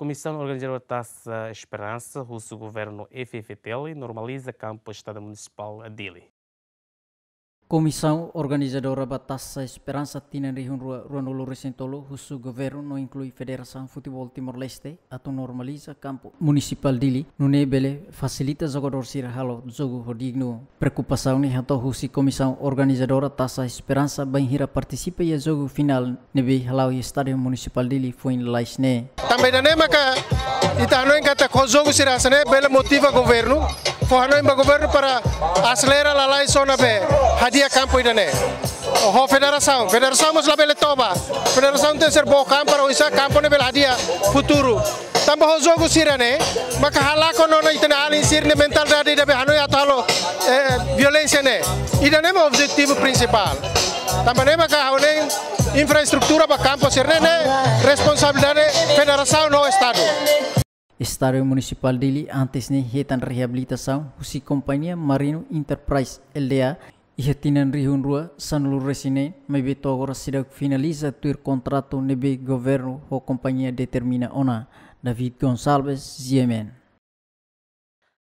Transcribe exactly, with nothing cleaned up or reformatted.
Komisaun Organizadora Taça Esperança husu governu F F T L normaliza kampu Estádiu Munisipál Dili. Komisaun Organizadora ba Taça Esperança tinan rihun rua ruanulu resin tolu husu governu no inklui Federasaun Futeból Timor-Leste atu normaliza kampu Munisipál Dili, nune'e bele fasilita jogadór sira halo jogu ho dignu. Preokupasaun ne'e hato'o husi Komisaun Organizadora Taça Esperança bainhira partisipa iha jogu finál ne'ebé hala'o iha Estádiu Munisipál Dili foin lalais ne'e. Tanba ida-ne'e maka ita hanoin katak ho jogu sira hanesan ne'e bele motiva governu, fó hanoin ba governu para aselera lalais ona be hadi'a kampu ida-ne'e. Ho federasaun, federasaun mós labele toba. Federasaun tenke ser book an para oinsá kampu ne'e bele hadi'a futuru. Tanba ho jogu sira-ne'e maka halakon ona ita-nia alin sira-nia mentalidade ida be hanoin atu halo, eh, violénsia ne'e. Ida-ne'e mak objetivu prinsipál. Tanba ne'e maka ha'u hanoin infraestrutura ba kampu sira-ne'e ne'e responsabilidade federasaun ho Estadu. Estádiu Munisipál Dili antes ne'e hetan reabilitasaun husi kompañia Marino Enterprise L D A iha tinan rihun rua sanulu resin neen, maibé to'o agora seidauk finaliza tuir kontratu ne'ebé governu ho kompañia determina ona. David Gonçalves, G M N.